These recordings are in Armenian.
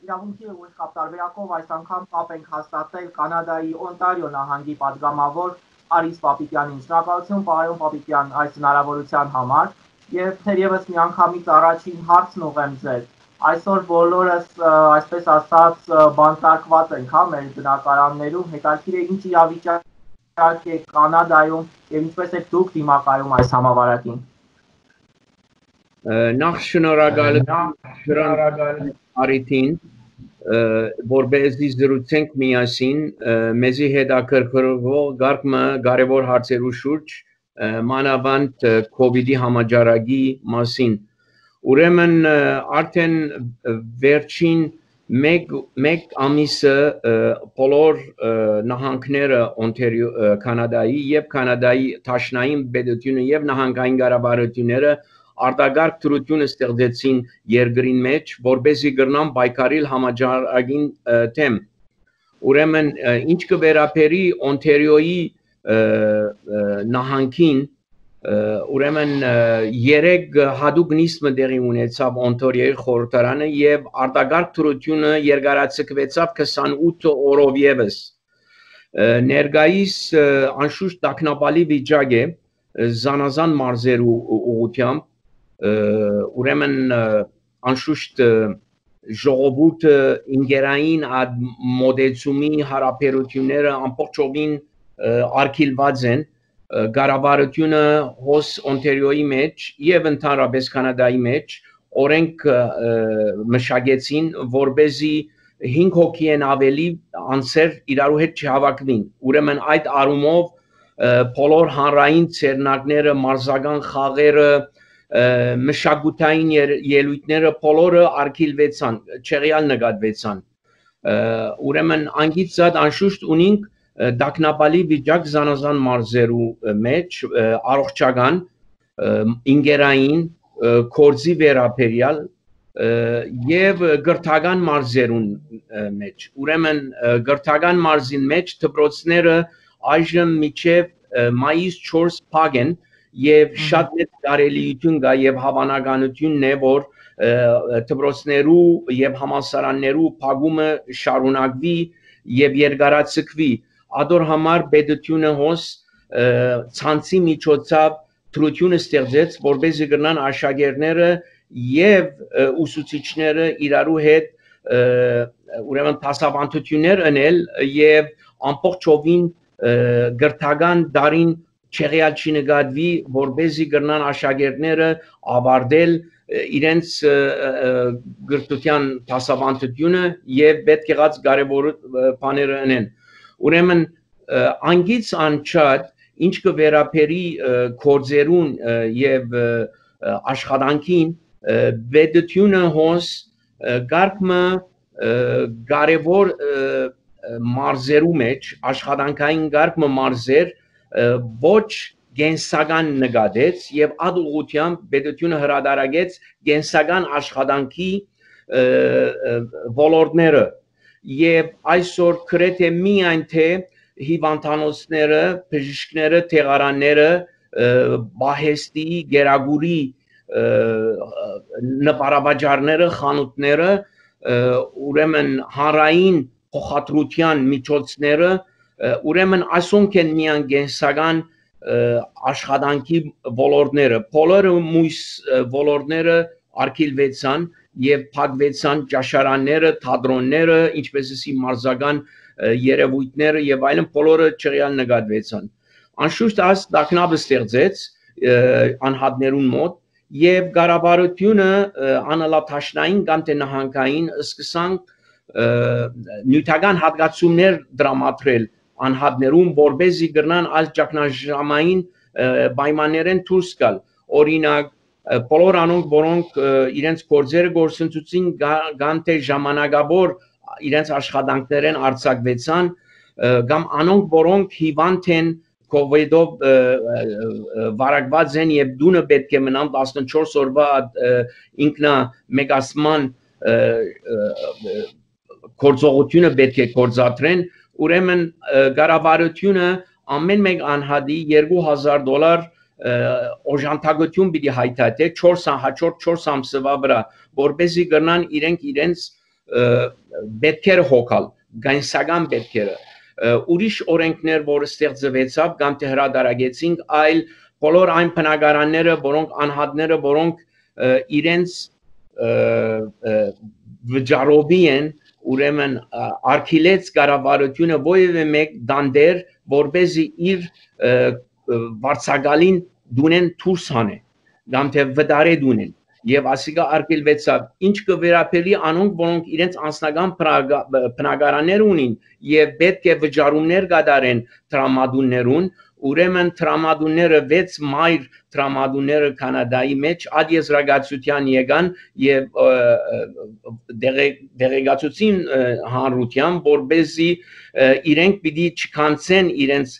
իրավունքի ուղիղ կապտարվեակով այս անգամ կապ ենք հաստատել Կանադայի Օնտարիո նահանգի պատգամավոր Արիս Պապիկյանին։ Շնորհակալություն պարոն Պապիկյան այս հնարավորության համար եւ թերևս միանգամից առաջին հարցն ուղղեմ ձեզ։ Այսօր բոլորս այսպես ասած բանտարկված ենք, հա, մեր բնակարաններում, հետաքրքիր է ինչ իրավիճակ է Կանադայում եւ ինչպես եք դուք դիմակայում այս համավարակին։ Նախ շնորհակալություն Արիթին, որպեսզի զրուցենք միասին մեզի հետաքրքրող կարևոր հարցերու շուրջ, մանավանդ COVID-ի համաճարակի մասին։ Ուրեմն արդեն վերջին մեկ ամիսը բոլոր նահանգները Կանադայի եւ Կանադայի դաշնային պետությունը եւ նահանգային կառավարությունները արտակարգ դրություն ստեղծեցին երկրին մեջ, որպեսզի կրնան պայքարել համաճարակին դեմ։ Ուրեմն ինչ կվերապերի Օնտարիոյի նահանգին, ուրեմն 3 հատուկ նիստ տեղի ունեցավ Օնտարիոյի խորհրդարանը եւ արտակարգ դրությունը երկարացկվեցավ 28 օրով եւս։ Ներկայիս անշուշտ տագնապալի վիճակ է զանազան մարզերու ուղղությամբ, ուրեմն անշուշտ ժողովուրդը ինգերային մոդեցումի հարաբերությունները ամբողջովին արգելված են, կառավարությունը հոս Օնտարիոյի մեջ եւ ընդհանրապես Կանադայի մեջ օրենք մշակեցին, որպեսզի 5 հոգի են ավելի անձեր իրարու հետ չհավաքվին։ Ուրեմն այդ առումով բոլոր հանրային ցերնակները, մարզական խաղերը, մշակութային ելույթները բոլորը արգելվեցան, չեղյալ նկատվեցան։ Ուրեմն անգիծած անշուշտ ունենք տագնապալի վիճակ զանազան մարզերու մեջ, առողջական, ինգերային, կորձի վերաբերյալ եւ գրթական մարզերուն մեջ։ Ուրեմն գրթական մարզին մեջ դպրոցները այժմ մինչեւ մայիս 4 փակ են եւ շատ մեծ կարելիություն կա եւ հավանականությունն է, որ դպրոցներու եւ համալսարաններու փակումը շարունակվի եւ երկարացկվի։ Ադոր համար պետությունը հոս ցանցի միջոցով դրություն ստեղծեց, որպեսզի կրնան աշակերտները եւ ուսուցիչները իրարու հետ ուրեմն դասավանդություններ անել եւ ամբողջովին գրթական դարին չեղյալ չնկատվի, որպեսզի կրնան աշակերտները ավարտել իրենց գրթության դասավանդությունը եւ պետք եղած կարեւոր բաները անեն։ Ուրեմն անգից անչափ ինչ կվերապերի կորձերուն եւ աշխատանքին պետությունը հոս գարկմը կարևոր մարզերու մեջ աշխատանքային գարկմը մարզեր ոչ գենսական նկատեց եւ այդ ուղղությամբ պետությունը հրադարագեց գենսական աշխատանքի ոլորտները եւ այսօր գրեթե միայն թե հիվանդանոցները, բժիշկները, տեղարանները, բահեստի, գերագուրի նպարաբաժարները, խանութները, ուրեմն հանրային փոխադրության միջոցները, ուրեմն ասոնք են միան գենսական աշխատանքի ոլորտները, բոլորը մույս ոլորտները արգելվեցան եւ փակվեցան ճաշարանները, թատրոնները, ինչպեսի մարզական երևույթները եւ այլն բոլորը չեղյալ նկատվեցան։ Անշուշտ այս տագնապը ստեղծեց անհատներուն մոտ եւ կառավարությունը անալաթաշնային կամ թե նահանգային սկսան նյութական հատկացումներ դրամատրել անհատներուն, որպեսզի կրնան այս ճգնաժամային պայմաններեն դուրս գալ։ Օրինակ բոլոր անոնք, որոնք իրենց գործերը գործընծուցին կամ թե ժամանակավոր իրենց աշխատանքներեն արձակվեցան, կամ անոնք, որոնք հիվանդ են COVID-ով վարակված են եւ դունը պետք է մնան 14 օրվա ինքնա մեգասման գործողությունը պետք է գործադրեն, ուրեմն կառավարությունը ամեն մեկ անհատի $2000 օժանդակություն պիտի հայտարարի 4 ամսվա վրա, որպեսզի գրնան իրենց պետքերը հոգալ, գանսական պետքերը, ուրիշ օրենքներ, որ ստեղծվեցավ կամ թե հրադարագեցինք, այլ բոլոր այն բնակարանները, որոնք անհատները, որոնք իրենց վճարովի են, ուրեմն արգելեց կառավարությունը ովևէ մեկ դանդեր, որպեսզի իր վարձակալին դունեն դուրս հանե, կամ թե վտարե դունեն, եւ ասիկա արգելվեցավ, ինչ կվերապերի անոնք, որոնք իրենց անձնական բնակարաններ ունին եւ պետք է վճարումներ կատարեն տրամադուններուն, ուրեմն տրամադունները 6 մայր տրամադունները Կանադայի մեջ ադիեզրագացության եկան եւ դեղեկացուցին հանրության, որպեսզի իրենք պիտի չքանցեն իրենց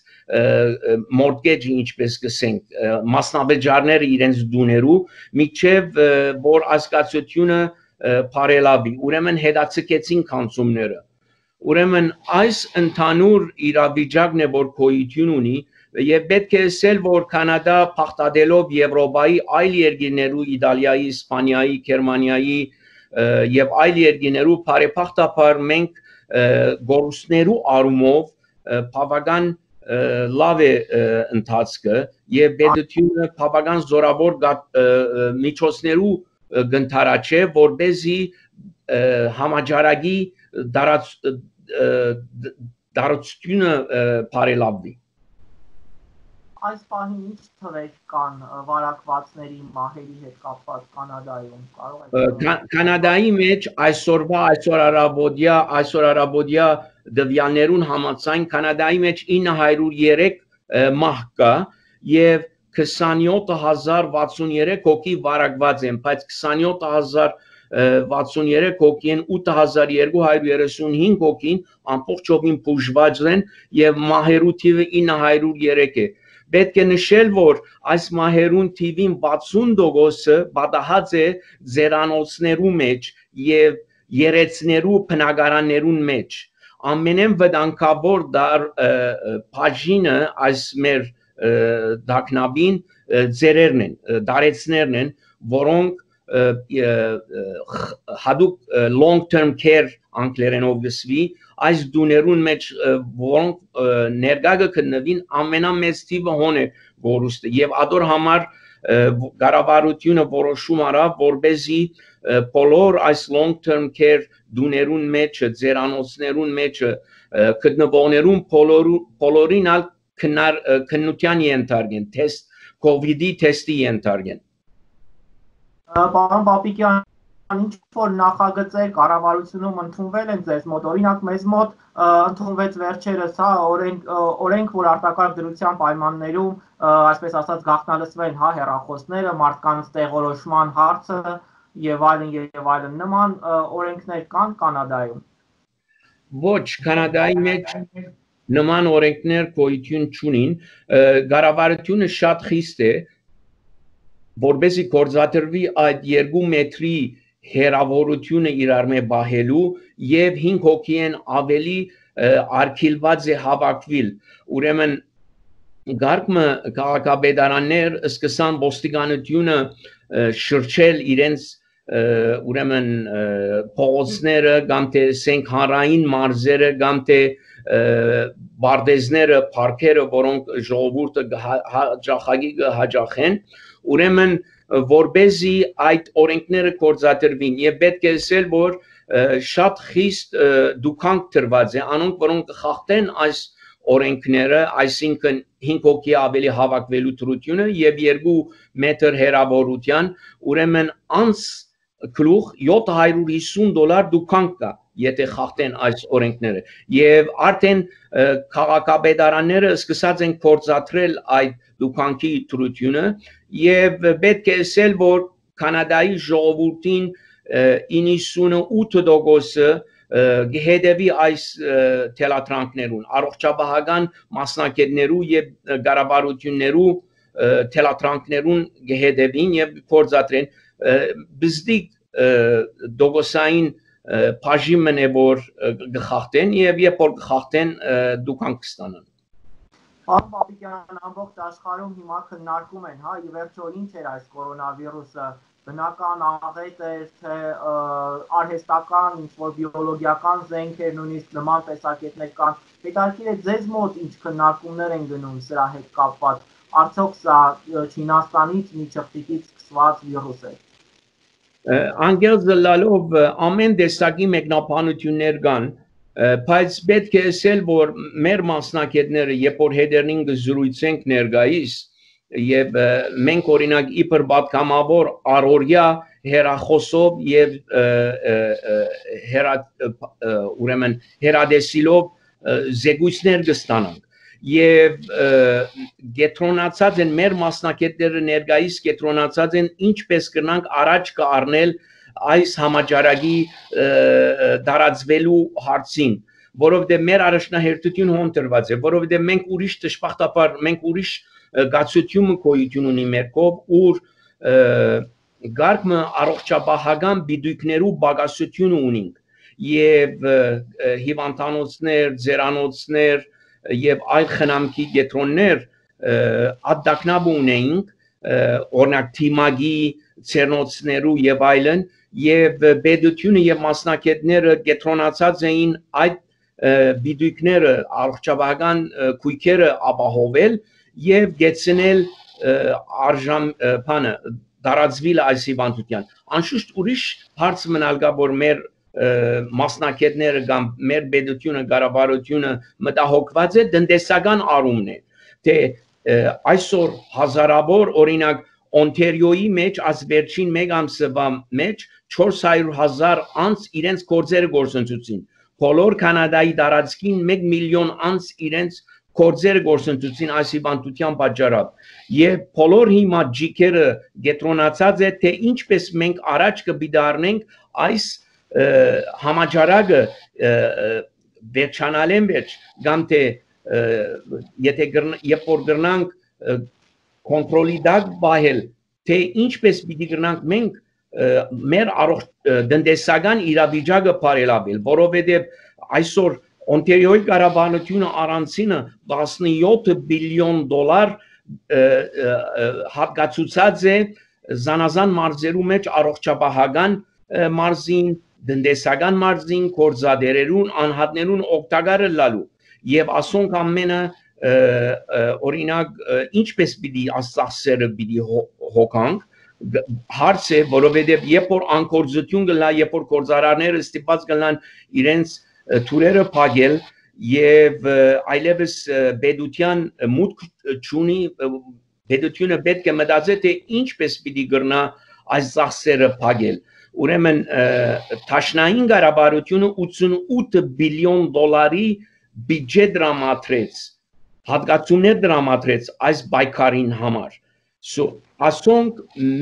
mortgage ինչպես կսենք մասնավճարները իրենց դուներու միջև որ ասկացությունը բարելավի ուրեմն հետաձգեցին կանցումները ուրեմն այս ընդհանուր իրավիճակն է որ գոյություն ունի եւ պետք է ասել որ կանադա փախտadելով եվրոպայի այլ երկրներու իտալիայի իսպանիայի գերմանիայի եւ այլ երկրներու բարեփոխտաբար մենք գորուսներու արումով բավական լավ է ընթացքը եւ պետությունը բավական զորավոր միջոցներու գնթարաչե որպեսզի համաճարակի դարությունը բարելավվի Այս պահին ինչ թվեր կան վարակվածների մահերի հետ կապված Կանադայում կարող եք Կանադայի մեջ այսօր արաբոդյա դվյաններուն համաձայն Կանադայի մեջ 903 մահ կա եւ 27063 հոգի վարակված են բայց 27063 հոգին 8235 հոգին ամբողջովին բուժված են եւ մահերու թիվը 903 է Պետք է նշել, որ այս մահերուն թիվին 60%-ը պատահած է ձերանոցներու մեջ եւ երեցներու բնակարաններուն մեջ ամենեն վտանգավոր բաժինը այս մեր դակնաբին ձերերն են, դարեցներն են, որոնք հadoop long term care անգլերենով գսվի այս դուներուն մեջ որոնք ներկա կգտնվին ամենամեծ թիվը հոն է գորուստը եւ ադոր համար կառավարությունը որոշում արավ որպեսզի բոլոր այս long term care դուներուն մեջ ձերանոցներուն մեջ գտնվողներուն բոլորին ալ քննության ենթարկեն թեստ COVID-ի թեստի ենթարկեն Պարոն Պապիկյան, ինչ որ նախագծեր կառավարությունում ընդունվել են ձեզ մոտ, օրինակ մեզ մոտ ընդունվեց վերջերս, օրենք, որ արտակարգ դրության պայմաններում, այսպես ասած, գաղտնալսվեն հեռախոսները, մարդկանց տեղորոշման հարցը եւ այլն նման օրենքներ կան Կանադայում։ Ոչ, Կանադայի մեջ նման օրենքներ գոյություն չունին, կառավարությունը շատ խիստ է որպեսզի գործադրվի այդ 2 մետրի հեռավորությունը իրար մեջ բահելու եւ 5 հոգի են ավելի արգելված է հավաքվել ուրեմն գարկմը քաղաքապետարաններ սկսան ոստիկանությունը շրջել իրենց ուրեմն փողոցները կամ թե սենք հանրային մարզերը կամ թե բարձեզները парքերը որոնք ժողովուրդը հաջախեն ուրեմն որպեսզի այդ օրենքները գործադրվին եւ պետք է ասել որ շատ խիստ դուքանք դրված է անոնք որոնք կխախտեն այս օրենքները այսինքն 5 հոգի ավելի հավաքվելու դրությունը եւ 2 մետր հեռավորության ուրեմն անց գլուխ $750 դուքանք կա եթե խախտեն այս օրենքները եւ արդեն քաղաքապետարանները սկսած են գործադրել այդ դուքանքի դրությունը եւ պետք է ասել որ Կանադայի ժողովրդին 98%-ը գեհդեվի այս թելատրանքներուն առողջապահական մասնակիցներու եւ կառավարություններու թելատրանքներուն գեհդեվին եւ գործադրեն բզդիկ դոգոսային բաժիմն է որ գխախտեն եւ երբ որ գխախտեն դուքանք կստանան Պարոն Պապիկյան, ամբողջ աշխարհում հիմա քննարկում են, հա, ի վերջո ինչ էր այս կորոնավիրուսը, բնական աղետ էր, թե արհեստական, ինչ-որ բիոլոգիական զենք էր, նույնիսկ նման տեսակետներ կան։ Հետաքրքիր է ձեզ մոտ ինչ քննարկումներ են գնում սրա հետ կապված, արդյոք սա Չինաստանից մի ճղճիկից սկսված վիրուս է։ Անգել զլալով ամեն տեսակի մեկնաբանություններ կան, բայց պետք է ասել, որ մեր մասնակիցները, երբ որ հետերին զրույցենք ներկայիս, եւ մենք օրինակ իբր պատգամավոր առօրյա հերախոսով եւ ուրեմն հերադեսիլով զեկույցներ կստանանք եւ գետրոնացած են մեր մասնակիցները ներկայիս գետրոնացած են ինչպես կնանք առաջ կառնել այս համաճարակի դարածվելու հարցին, որովհետեւ մեր առաջնահերթությունը հոնտրված է, որովհետեւ մենք ուրիշ դժբախտաբար մենք ուրիշ գացություն գոյություն ունի մեր կողմ, ուր գարկմը առողջապահական բիդույքներու բագասություն ունենք եւ հիվանդանոցներ, ձերանոցներ եւ այլ խնամքի կետրոններ ադակնաբ ունեինք օրինակ թիմագի ցերնոցներու եւ այլն եւ բեդությունը եւ մասնակիցները կետրոնացած էին այդ բիդույքները առողջապահական քույքերը ապահովել եւ գեցնել արժան բանը դարածվիլ այս հիվանդության անշուշտ ուրիշ հարց մնալ կա որ մեր մասնակիցները կամ մեր բեդությունը կառավարությունը մտահոգված է տնտեսական առումն է թե այսօր հազարավոր օրինակ Օնտարիոյի մեջ այս վերջին մեկ ամսվա մեջ 400,000 անց իրենց գործերը գործընծուցին բոլոր կանադայի տարածքին 1 միլիոն անց իրենց գործերը գործընծուցին այս հիվանդության պատճառով եւ բոլոր հիմա ջիկերը գետրոնացած է թե ինչպես մենք առաջ կբիդարնենք այս համաճարակը վերջանալեն վերջ կամ թե եթե երբ որ գրնանք կոնտրոլի դակ բահել թե ինչպես պիտի գրնանք մենք մեր տնտեսական իրավիճակը բարելավել որովհետեւ այսօր Օնտարիոյի կառավարությունը առանցինը 17 բիլիոն դոլար հատկացուցած է զանազան մարզերու մեջ առողջապահական մարզին, տնտեսական մարզին, գործադերերուն, անհատներուն օգտակարը լալու եւ ասոնք ամենը օրինակ ինչպես պիտի աստծասերը պիտի հոգանք հարց է որովհետեւ երբ որ անկորձություն գլա երբ որ գործարարները ստիպած գլան իրենց թուրերը փակել եւ այլևս բեդության մուտք չունի բեդությունը պետք է մտածի թե ինչպես պիտի գրնա այս ծախսերը փակել ուրեմն Թաշնային կառավարությունը 88 բիլիոն դոլարի բյուջե դրամատրեց հատկացումներ դրամատրեց այս բայկարին համար ասոնք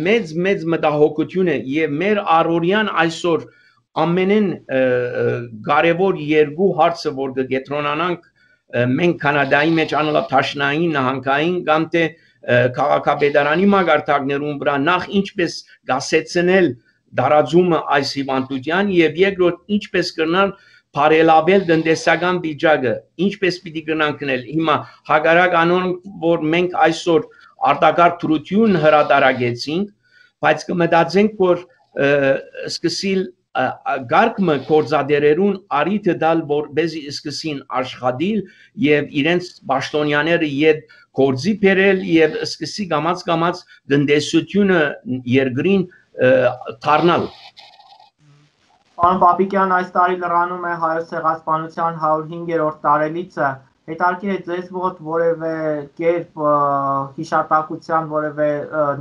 մեծ մտահոգություն է եւ մեր առօրյան այսօր ամենեն կարևոր երկու հարցը որ կգետրոնանանք մենք կանադայի մեջ անալա Թաշնային նահանգային կամ թե քաղաքապետարանի մագարտակներուն վրա նախ ինչպես գասեցնել դարաձումը այս հիվանդության եւ երկրորդ ինչպես կրնալ բարելավել տնտեսական վիճակը ինչպես պիտի կրնանքնել հիմա հագարակ անոն որ մենք այսօր արտակարգ թրություն հրադարագեցինք բայց կմտածենք որ սկսիլ գարկմը գործադերերուն արիթը դալ որբեզի սկսին աշխատիլ եւ իրենց պաշտոնյաները իդ գործի բերել եւ սկսի գամած տնտեսությունը երկրին թարնալ Պարոն Պապիկյան այս տարի լրանում է հայոց ցեղասպանության 105-րդ տարելիցը հետաքրքիր է ձեզ մոտ որևէ կերպ հիշատակության որևէ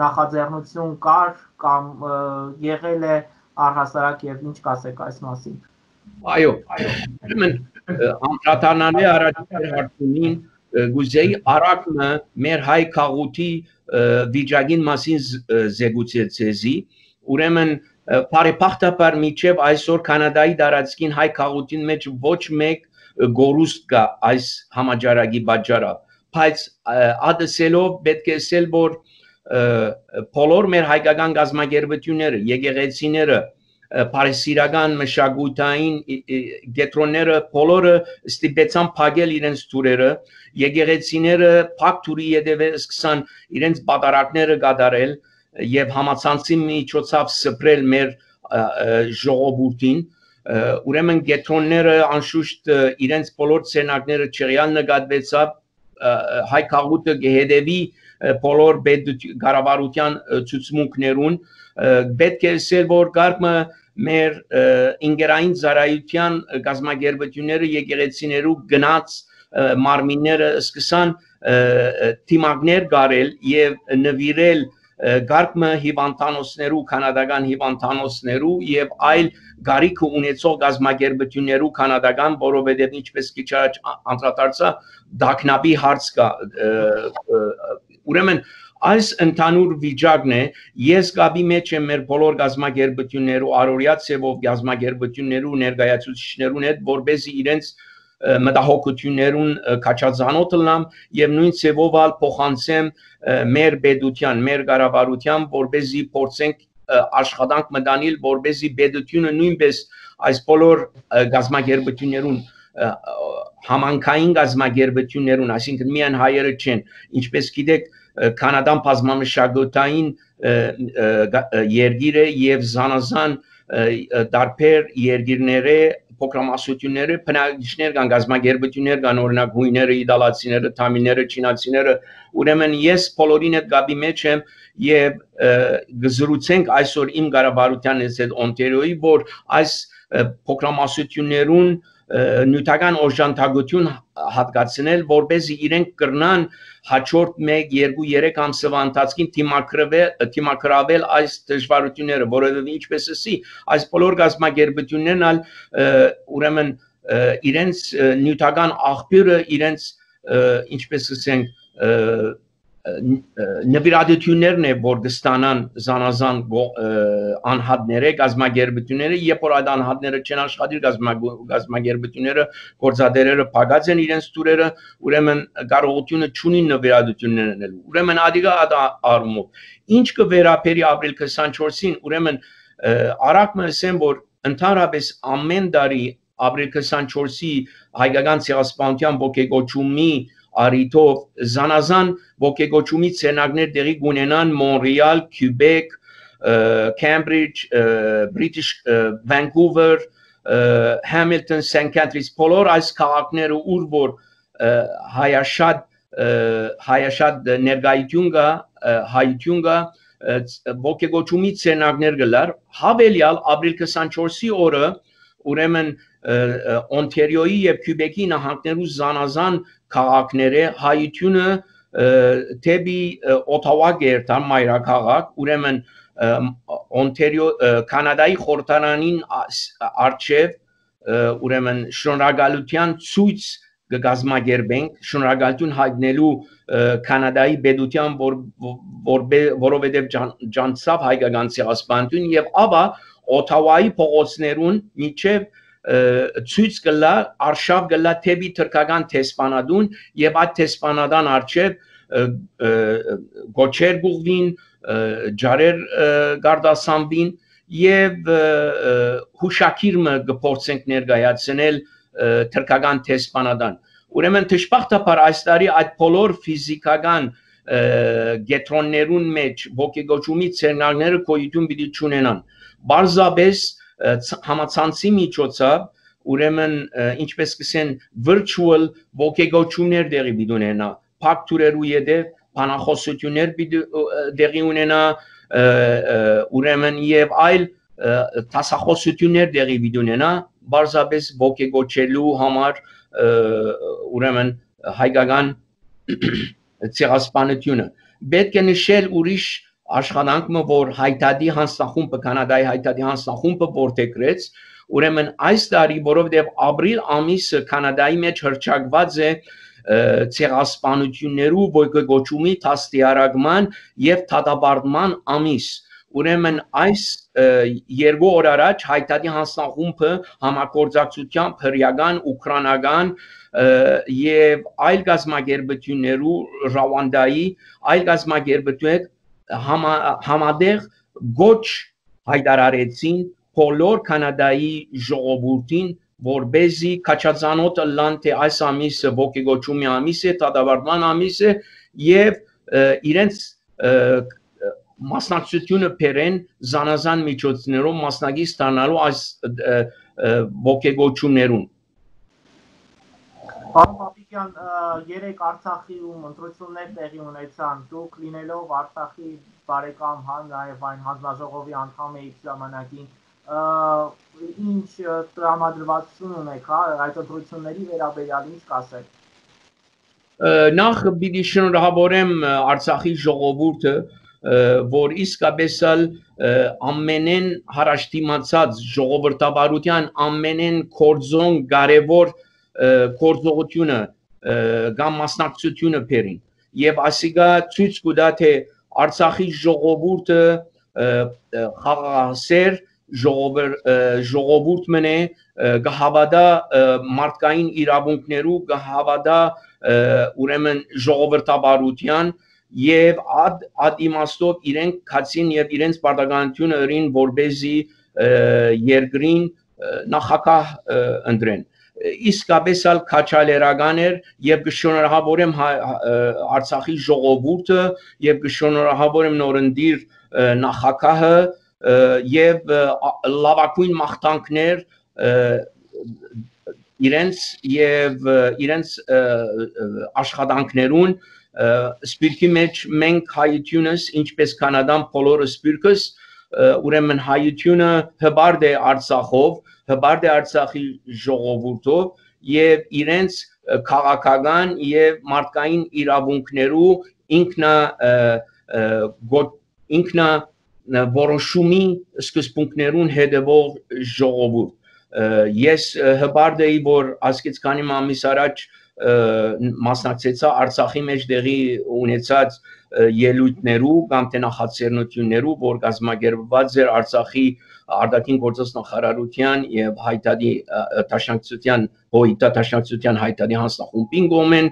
նախաձեռնություն կար կամ եղել է առհասարակ եւ ինչ կասեք այս մասին Այո անդրադառնալի առաջին հարցին գուզեի արակը մեր հայ քաղուտի վիճակին մասին զեկուցեցի ուրեմն բարեփոխտաբար միջև այսօր կանադայի տարածքին հայ քաղուտին մեջ ոչ մեկ գորուստ կա այս համաճարակի պատճառով բայց ադսելով պետք է ասել որ բոլոր մեր հայկական գազམ་ագերբությունները եկեղեցիները Փարիսիրական մշակութային գետրոնները բոլորը ստիպեցան փակել իրենց թուրերը, եկեղեցիները փակ թուրի յետևը սկսան իրենց պատարակները կատարել եւ համացանցի միջոցով սփռել մեր ժողովրդին ուրեմն գետրոնները անշուշտ իրենց բոլոր ցերնակները չեղյալ նկատվեցավ հայ քաղուտը գեհդեվի բոլոր կառավարության ցուցմունքներուն պետք է ասել որ գարկը մեր ինգերային ծառայության գազագերբությունները եկեղեցիներու գնաց մարմինները սկսան թիմակներ գարել եւ նվիրել գարկը հիվանդանոցներու կանադական հիվանդանոցներու եւ այլ գարիք ունեցող գազագերբություններու կանադական որովհետեւ ինչպես քիչ առաջ անդրադարձա դակնաբի հարց կա ուրեմն այս ընդհանուր վիճակն է ես գաբի մեջ եմ մեր բոլոր գազագերբություններու առօրյա ցևով գազագերբություններու ներկայացուցիչներուն հետ որբեզի իրենց մտահոգություններուն քաչածանոթ լնամ եւ նույն ցևով ալ փոխանցեմ մեր պետության մեր կառավարության որբեզի փորձենք աշխատանք մտանել որբեզի պետությունը նույնպես այս բոլոր գազագերբություններուն համանքային գազագերբություններուն այսինքն միայն հայերը չեն ինչպես գիտեք կանադան բազմամշակութային երկիր է եւ զանազան դարբեր երկիրները փոքրամասնությունները բնակիչներ կան գազագերբություններ կան օրինակ հույները իտալացիները թամիները չինացիները ուրեմն ես բոլորին հետ գաբի մեջ եմ եւ գզրուցենք այսօր իմ կառավարության հետ Օնտարիոյի որ այս փոքրամասնություններուն նյութական օժանդակություն հատկացնել որբեզի իրենք կրնան հաջորդ 1-2-3 ամսվա ընթացքին թիմակրավել այս դժվարությունները որովհետեւ ինչպես ասի այս բոլոր գազագերբություններն ալ ուրեմն իրենց նյութական աղբյուրը իրենց ինչպես ասենք նվիրատություններն է որ կստանան զանազան անհատները գազագերբությունները երբ որ այդ անհատները չեն աշխատիր գազագերբությունները գործադերերը փակած են իրենց տուրերը ուրեմն կարողությունը չունին նվիրատություններ անելու ուրեմն ադիգա արումով ինչ կվերապերի ապրիլ 24-ին ուրեմն արագ մսեմ որ ընդհանրապես ամեն տարի ապրիլ 24-ի հայկական ցեղասպանության ողջագոչումի Արիտով զանազան ողջագոչումի ցերնակներ տեղի կունենան Մոնրեալ, Քյուբեկ, Քեմբրիջ, British Vancouver, Hamilton, St. Catharines բոլոր այս քաղաքները ուր որ հայաշատ ներկայություն կա հայություն կա ողջագոչումի ցերնակներ գլար հավելյալ ապրիլ 24-ի օրը ուրեմն Օնտարիոյի եւ Քյուբեկի նահանգներու զանազան քաղաքները հայությունը թեպի Օթավա գերտան մայրաքաղաք ուրեմն Օնտարիո կանադայի խորհրդարանին արչև ուրեմն շնորհակալության ցույց կգազմագերբենք շնորհակալություն հայտնելու կանադայի պետության որովհետև ջանցավ հայկական ցեղասպանություն եւ ապա Օթավայի փողոցներուն միջև ցույց կլա արշավ կլա թեպի թրքական տեսփանադուն եւ այդ տեսփանադան արչեւ գոչեր գուղվին ջարեր գարդասանվին եւ հուշակիրը կփորձենք ներկայացնել թրքական տեսփանադան ուրեմն դժբախտաբար այս տարի այդ բոլոր ֆիզիկական գետրոններուն մեջ ողջագոչումի ցերնակները գոյություն պիտի չունենան բարձաբես համացանցի միջոցով ուրեմն ինչպես կսեն virtual ողջագոչումներ դեղի պիտի ունենա փակ թուրերու յետև բանախոսություններ պիտի դեղի ունենա ուրեմն եւ այլ տասախոսություններ դեղի պիտի ունենա բարձաբես ողջագոչելու համար ուրեմն հայկական ցեղասպանությունը պետք է նշել ուրիշ աշխատանքը որ հայտարարի հանձնախումբը կանադայի հայտարարի հանձնախումբը որտեղրեց ուրեմն այս տարի որովհետև ապրիլ ամիսը կանադայի մեջ հրճակված է ցեղասպանություններու ողջագոչումի դաստիարակման եւ դատապարտման ամիս ուրեմն այս երկու օր առաջ հայտարարի հանձնախումբը համագործակցությամբ հրեական ուկրաինական եւ այլ գազագերբություններու Ռուանդայի այլ գազագերբություններ համադեղ գոչ հայտարարեցին բոլոր Կանադայի ժողովրդին, որբեզի քաչածանոթը լան թե այս ամիսը ոգեգոճումի ամիս է, դատավարտման ամիս է եւ իրենց մասնակցությունը բերեն զանազան միջոցներով մասնակից ստանալու այս ոգեգոճումներուն։ Պարոն Պապիկյան, երեք Արցախիում ընտրություններ տեղի ունեցան, դուք լինելով Արցախի բարեկամ, նաև այն հանձնաժողովի անդամ եք ժամանակին, ինչ տրամադրվածություն ունեք, այդ ընտրությունների վերաբերյալ ինչ կասեք։ Նախ պիտի շնորհավորեմ Արցախի ժողովուրդը, որ իսկապես ամենեն հարաշտիմացած ժողովրդավարության ամենեն կորձոն կարևոր կորձողությունը կամ մասնակցությունը բերին եւ ասիկա ցույց կտա թե Արցախի ժողովուրդը խաղաղասեր ժողովուրդ մնե գահավադա մարդկային իրավունքներու գահավադա ուրեմն ժողովրդավարության եւ ad իմաստով իրենք քացին եւ իրենց պարտականությունը ըրին որբեզի երկրին նախագահ ընտրեն իսկապես քաչալերական էր եւ կշնորհավորեմ Արցախի ժողովուրդը եւ կշնորհավորեմ նորնդիր նախագահը եւ լավագույն մաղթանքներ իրենց աշխատանքներուն սպիրկի մեջ մենք հայությունս ինչպես կանադան բոլորը սպիրկս ուրեմն հայությունը հբարդ է Արցախով հբարդ է Արցախի ժողովուրդով եւ իրենց քաղաքական եւ մարդկային իրավունքներու ինքնա որոշումի սկզբունքներուն հետևող ժողովուրդ ես հբարդ էի որ ասկից քանի ամիս առաջ մասնակցեցա Արցախի մեջ դեղի ունեցած ելույթներու կամ թե նախաձեռնություններու որ կազմակերպված էր Արցախի արտաքին գործոս նախարարության եւ հայտարարի տաշնակցության տաշնակցության հայտարարի հանձնախումբին գոմեն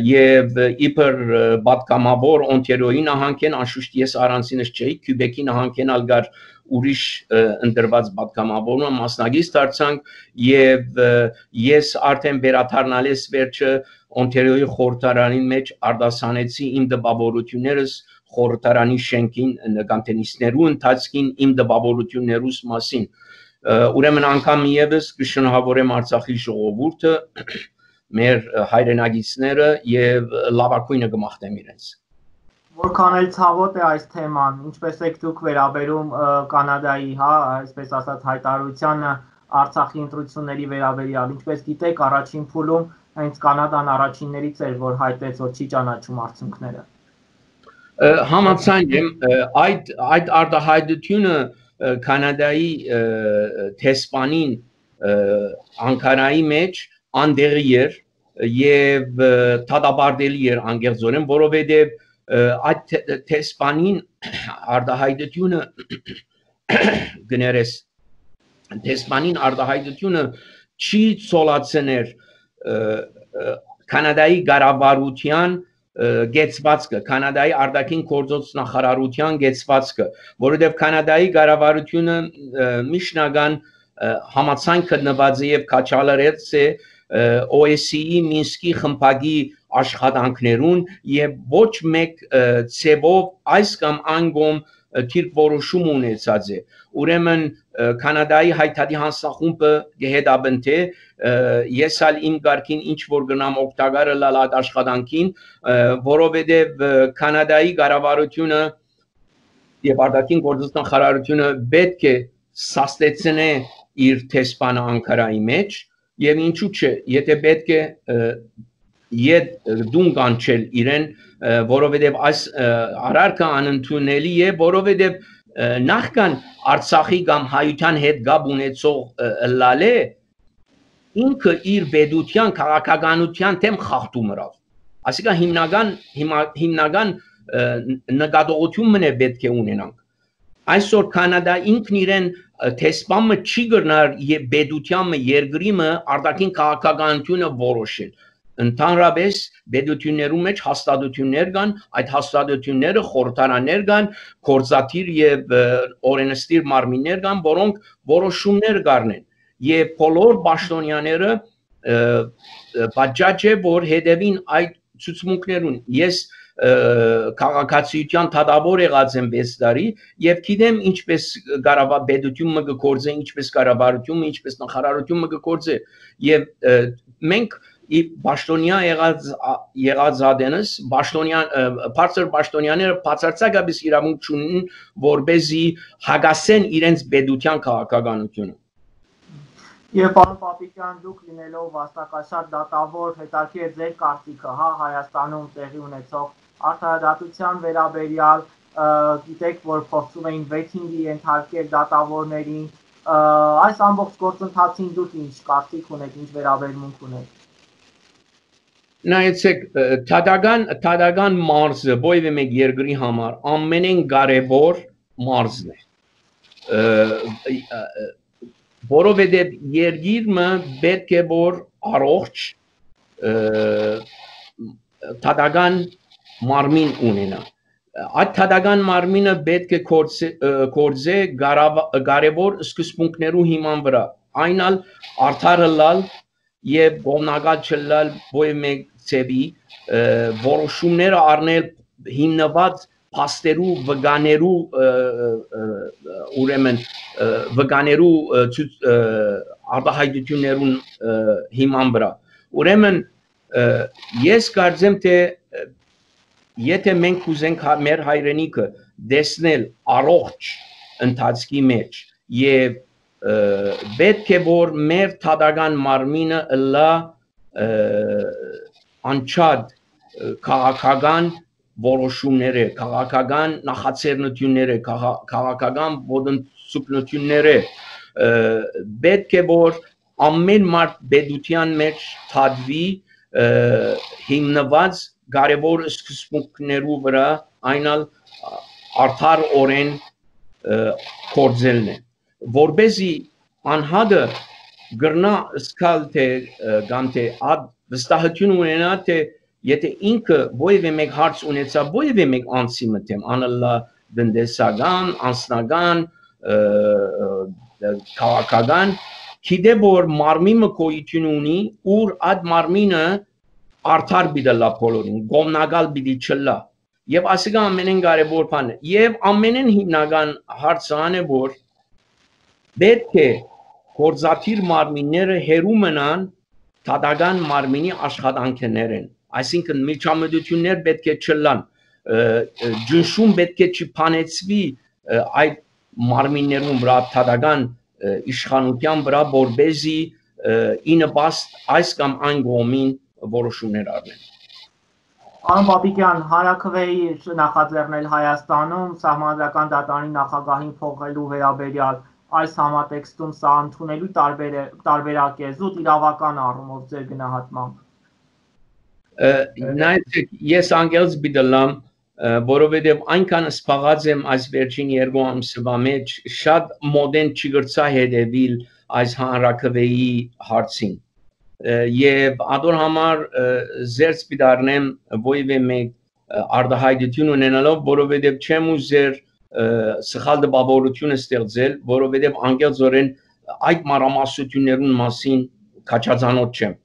եւ իբր պատգամավոր Օնտարիոյի նահանգեն անշուշտ ես առանցինս չէի Քյուբեկի նահանգեն ալգար ուրիշ ընդրված պատգամավորը մասնագետ դարձանք եւ ես արդեն վերադառնալիս վերջը Օնտարիոյի խորհրդարանի մեջ արտասանեցի իմ դպավորություններս խորհրդարանի շենքին նկատենիստներու ընթացքին իմ դպավորություններուս մասին ուրեմն անգամ եւս կշնորհավորեմ Արցախի ժողովուրդը մեր հայրենագիտները եւ լավագույնը կմաղթեմ իրենց Որքան էլ ցավոտ է այս թեման, ինչպես եք դուք վերաբերում Կանադայի, այսպես ասած հայտարարությանը Արցախի ընտրությունների վերաբերյալ, ինչպես գիտեք, առաջին փուլում հենց Կանադան առաջիններից էր, որ հայտեց, որ չի ճանաչում արդյունքները։ Համաձայն եմ, այդ արտահայտությունը Կանադայի տեսփանին Անկարայի մեջ անդեղի էր եւ դատապարտելի էր անգերձորեն, որովհետեւ այդ տեսփանին արտահայտությունը գներես տեսփանին արտահայտությունը չի ցոլացներ Կանադայի կառավարության գեցվածքը Կանադայի արտաքին գործոց նախարարության գեցվածքը որովհետև Կանադայի կառավարությունը միշնական համացանք գտնված է եւ քաչալերեց է OSCE Մինսկի խմբակի աշխատանքներուն եւ ոչ մեկ ցեվով այս կամ անգամ թիրք որոշում ունեցած է ուրեմն Կանադայի հայտարարի հանձնախումբը գեհդաբնթե ես ալ իմ գարկին ինչ որ գնամ օգտակարը լալատ աշխատանքին որովհետեւ Կանադայի կառավարությունը եւ արտաքին գործոց նախարարությունը պետք է սաստեցնե իր տեսփանը Անկարայի մեջ եւ ինչու՞ չէ եթե պետք է իդ դուն կանչել իրեն որովհետեւ այս արարքը անընդունելի է որովհետեւ նախքան Արցախի կամ հայության հետ գաբ ունեցող լալե ինքը իր պետության քաղաքականության թեմ խախտում ըրավ ասիկա հիմնական նկատողություն մնե պետք է ունենանք այսօր Կանադա ինքն իրեն տեսփանը չի գտնար եւ պետությանը երկրիմը արտաքին քաղաքականությունը որոշել ընդհանրապես պետություններում մեջ հաստատություններ կան, այդ հաստատությունները խորհրդարաններ կան, գործադիր եւ օրենսդիր մարմիններ կան, որոնք որոշումներ կառնեն եւ բոլոր պաշտոնյաները պատճառ է որ հետևին այդ ցուցմունքներուն ես քաղաքացիության դատավոր եղած եմ 6 տարի եւ գիտեմ ինչպես Ղարաբաղ գործե ինչպես կառավարությունը ինչպես նախարարությունը գործե եւ մենք Պաշտոնյա եղած ադենս բարձր պաշտոնյաները բացարձակապես իրավունք չունեն որբեզի հագասեն իրենց պետության քաղաքականությունը Եվ պարոն Պապիկյան, դուք լինելով վաստակաշատ դատավոր, հետաքրքիր է ձեր կարծիքը, հա, Հայաստանում տեղի ունեցող արդարադատության վերաբերյալ, գիտեք, որ փորձում էին վեթինգի ենթարկել դատավորներին, այս ամբողջ գործընթացին դուք ինչ կարծիք ունեք, ինչ վերաբերմունք ունեք։ Նայեցեք, թադական մարզը ովևէ մեկ երկրի համար ամենեն կարևոր մարզն է։ Որովհետև երկիրը պետք է որ առողջ թադական մարմին ունենա։ Այդ թադական մարմինը պետք է գործե կարևոր սկզբունքներու հիման վրա։ Այնալ արդարը լալ եւ գոհնակալ չլալ ովևէ մեկ ծեվի որոշումները առնել հիմնված փաստերու վկաներու ուրեմն վկաներու արտահայտություններուն հիման վրա ուրեմն ես կարծեմ թե եթե մենք ուզենք մեր հայրենիքը դեսնել առողջ ընթացքի մեջ եւ պետք է որ մեր թադական մարմինը լա անչափ քաղաքական որոշումները, քաղաքական նախաձեռնությունները, քաղաքական ոտնձգությունները պետք է որ ամեն մարդ պետության մեջ թադվի հիմնված կարևոր սկզբունքներու վրա այնալ արդար օրեն գործելն է որբեսի անհատը գրնա սկալ թե կամ թե վստահություն ունենա թե եթե ինքը ովևէ մեկ հարց ունեցա ովևէ մեկ անձի մտեմ անալա դնդեսական անձնական քաղաքական գիտե որ մարմինը գոյություն ունի ուր այդ մարմինը արդար պիտի լա բոլորին գոհնակալ պիտի չլա եւ ասիկա ամենեն կարեւոր բան է եւ ամենեն հիմնական հարցը այն է որ պետք է գործադիր մարմինները հերու մնան թադական մարմինի աշխատանքներեն այսինքն միջամտություններ պետք է չլան ջնշում պետք է չփանեցվի այդ մարմիններուն վրա թադական իշխանության վրա որբեզի ինպաստ այս կամ այն կողմին որոշումներ առնեն Պարոն Պապիկյան, հանրաքվեի նախաձեռնել Հայաստանում սահմանադրական դատարանի նախագահին փոխելու վերաբերյալ այս համատեքստում սա ընդունելու տարբերակ է զուտ իրավական առումով ձեր գնահատմամբ Նայեցեք, ես անգելս բիդլամ, որովհետև այնքան սպաղած եմ այս վերջին երկու ամսվա մեջ, շատ մոդեն չգրծա հետևիլ այս հանրաքվեի հարցին։ Եվ ադոր համար զերծ պիտարնեմ ովևէ մեկ արտահայտություն ունենալով, որովհետև չեմ ուզեր սխալ տպավորություն ստեղծել, որովհետև անգելձորեն այդ մանրամասնություններուն մասին քաջազանոթ չեմ։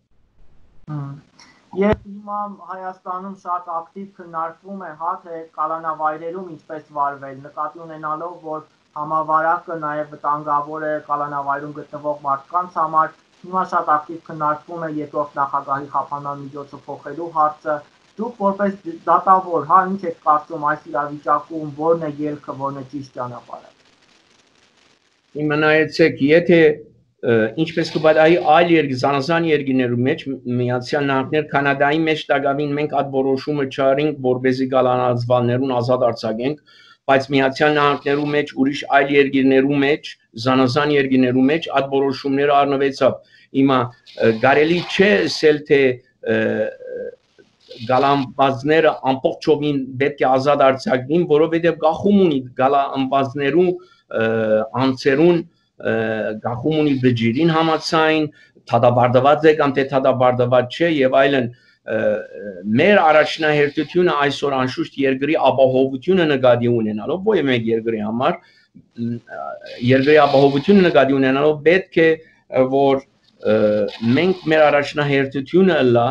Եվ հիմա Հայաստանում շատ ակտիվ քննարկվում է, հա, թե կալանավայրերում ինչպես վարվել, նկատի ունենալով, որ համավարակը նաև վտանգավոր է կալանավայրում գտնվող մարդկանց համար, հիմա շատ ակտիվ քննարկվում է երկրորդ նախագահի խափանման միջոցը փոխելու հարցը, դուք որպես դատավոր, հա, ինչ եք կարծում այս իրավիճակում, որն է ելքը, որն է ճիշտ ճանապարհը։ Իմանայեցեք, եթե ինչպես կբադայի այլ զանազան երկրներու մեջ Միացյալ Նահանգներ Կանադայի մեջ դակավին մենք այդ որոշումը չարինք որբեզի գալանացվալներուն ազատ արձակենք բայց Միացյալ Նահանգներու մեջ ուրիշ այլ երկրներու մեջ զանազան երկրներու մեջ այդ որոշումները առնվեցավ հիմա կարելի չէ ասել թե գալանվածները ամբողջովին պետք է ազատ արձակվին որովհետև գախում ունի գալանվածներու անձերուն գախում ունի բջիրին համացայն, թադաբարդված է կամ թե թադաբարդված չէ եւ այլն մեր առաջնահերթությունը այսօր անշուշտ երկրի ապահովությունը նկատի ունենալով ոչ մեկ երկրի համար երկրի ապահովությունը նկատի ունենալով պետք է որ մենք մեր առաջնահերթությունը լա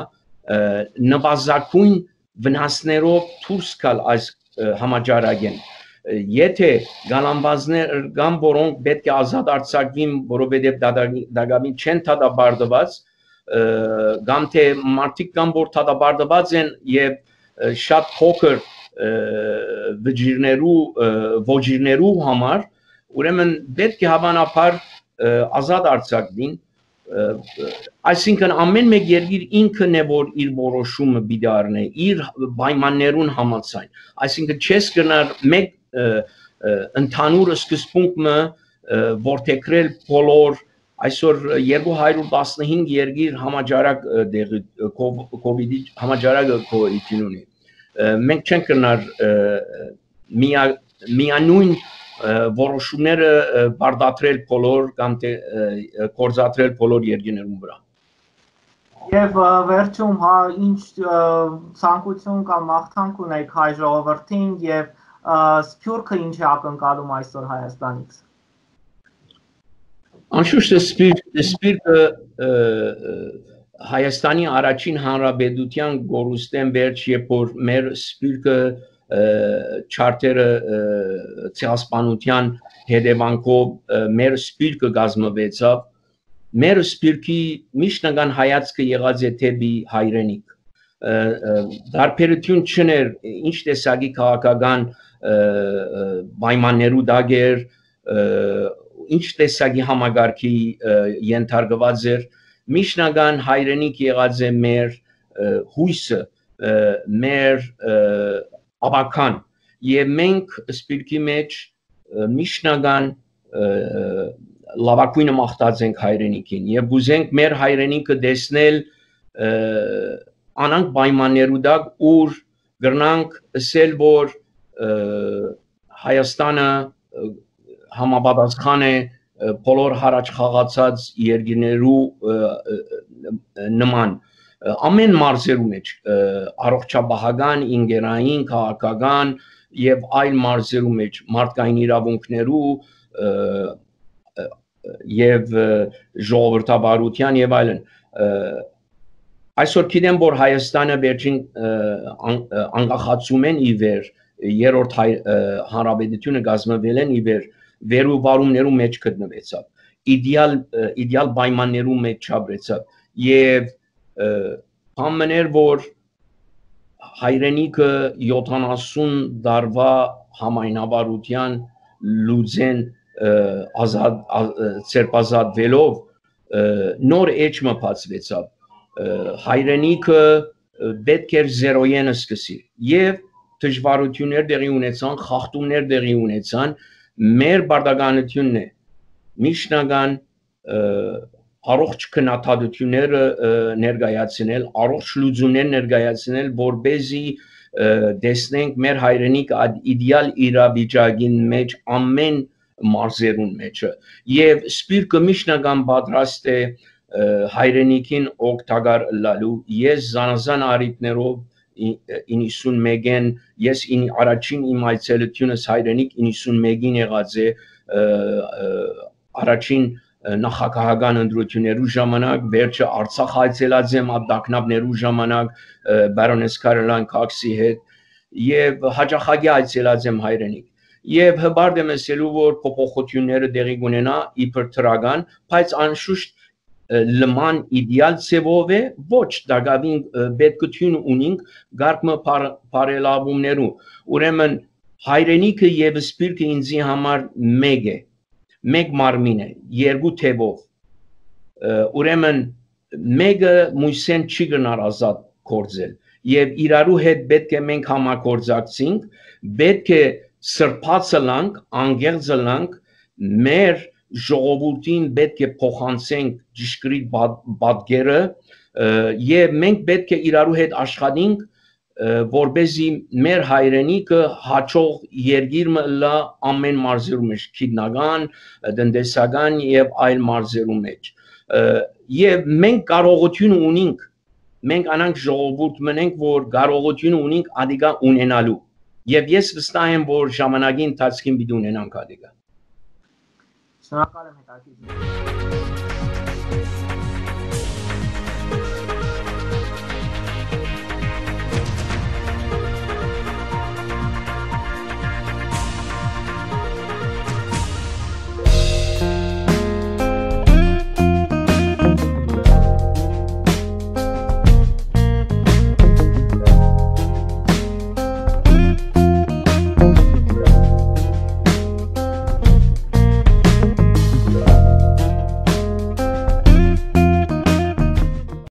նվազագույն վնասներով դուրս գալ այս համաճարակեն եթե գալանվազներ կամ որոնք պետք է ազատ արձակվին որովհետև դակամին չեն թադաբարդված կամ թե մարդիկ կամ որ թադաբարդված են եւ շատ փոքր ոչիրներու համար ուրեմն պետք է հավանաբար ազատ արձակվին այսինքն ամեն մեկ երկիր ինքն է որ իր որոշումը պիտի առնի իր պայմաններուն համաձայն այսինքն չես գնար մեկ ընդհանուր սկզբունքը որթեքրել բոլոր այսօր 215 երկիր համաճարակ կովիդի համաճարակը կոյություն ունի մենք չենք գնար միանույն որոշումները բարդատրել բոլոր կամ թե կորզատրել բոլոր երկրներում վրա Եվ վերջում հա ինչ ցանկություն կամ մաղթանք ունեք հայ ժողովրդին եւ Սփյուռքը ինչ է ակնկալում այսօր Հայաստանից Անշուշտ Սփյուռքը Հայաստանի առաջին հանրապետության գորուստեն վերջ երբ որ մեր Սփյուռքը չարտերը ցեղասպանության հետևանքով մեր Սփյուռքը գազմվեցավ մեր Սփյուռքի միշնական հայացքը եղած է թեպի հայրենիք դարբերություն չներ ինչ տեսակի քաղաքական պայմաններու դագեր ինչ տեսակի համագարքի ենթարկված էր միշնական հայրենիք եղած է մեր հույսը մեր աբական եւ մենք Սփյուռքի մեջ միշնական լավակույնը մաղթած ենք հայրենիքին եւ ուզենք մեր հայրենիքը տեսնել անանք պայմաններու դակ ուր գրնանք ասել որ Հայաստանը համապատասխան է բոլոր հարաճ խաղացած երկրներու նման ամեն մարզերու մեջ առողջապահական, ինգերային, քաղաքական եւ այլ մարզերու մեջ մարդկային իրավունքներու եւ ժողովրդավարության եւ այլն այսօր գիտեմ որ Հայաստանը վերջին անկախացումեն ի վեր երրորդ հանրապետությունը գազմվել են ի վեր վերուվարումներու մեջ գտնվեցավ իդեալ պայմաններու մեջ չապրեցավ եւ ամեներ որ հայրենիքը 70 դարվա համայնավարության լուծեն ազատ ցերպազատվելով նոր էջը բացվեցավ հայրենիքը պետք էր զերոյենը սկսի եւ դժվարություններ դեղի ունեցան խախտումներ դեղի ունեցան մեր բարդականությունն է միշնական առողջ քննադատությունները ներկայացնել առողջ լուծումներ ներկայացնել որբեզի տեսնենք մեր հայրենիք իդեալ իրավիճակին մեջ ամեն մարզերուն մեջը եւ Սփյուռքը միշնական պատրաստ է հայրենիքին օգտակար լալու ես զանազան արիտներով 91-ին ես առաջին իմ այցելությունս հայրենիք 91-ին եղած է առաջին նախագահական ընտրություններու ժամանակ վերջը Արցախ այցելած եմ ադակնաբներու ժամանակ բարոնես Կարոլայն Քոքսի հետ եւ հաջախագի այցելած եմ հայրենիք եւ հբարդ եմ ասելու որ փոփոխությունները դեղի կունենա իբր թրական բայց անշուշտ լման իդեալ ցևով է ոչ դակավին պետքություն ունինք գարկմը բարելավումներու ուրեմն հայրենիքը եւ Սփյուռքը ինձի համար մեկ է մեկ մարմին է երկու թևով ուրեմն մեկը մույսեն չի գնար ազատ կորձել եւ իրարու հետ պետք է մենք համագործակցենք պետք է սրբացը լանք անգեղծը լանք մեր ժողովրդին պետք է փոխանցենք ճշգրիտ պատկերը եւ մենք պետք է իրարու հետ աշխատենք որբեզի մեր հայրենիքը հաջող երկիրը լա ամեն մարզերու մեջ քիդնական, տնտեսական եւ այլ մարզերու մեջ եւ մենք կարողություն ունենք մենք անանք ժողովուրդ մնենք որ կարողություն ունենք ադիգա ունենալու եւ ես վստահ եմ որ ժամանակի ընթացքում պիտի ունենանք ադիգա Շնորհակալ եմ հետաքրքիր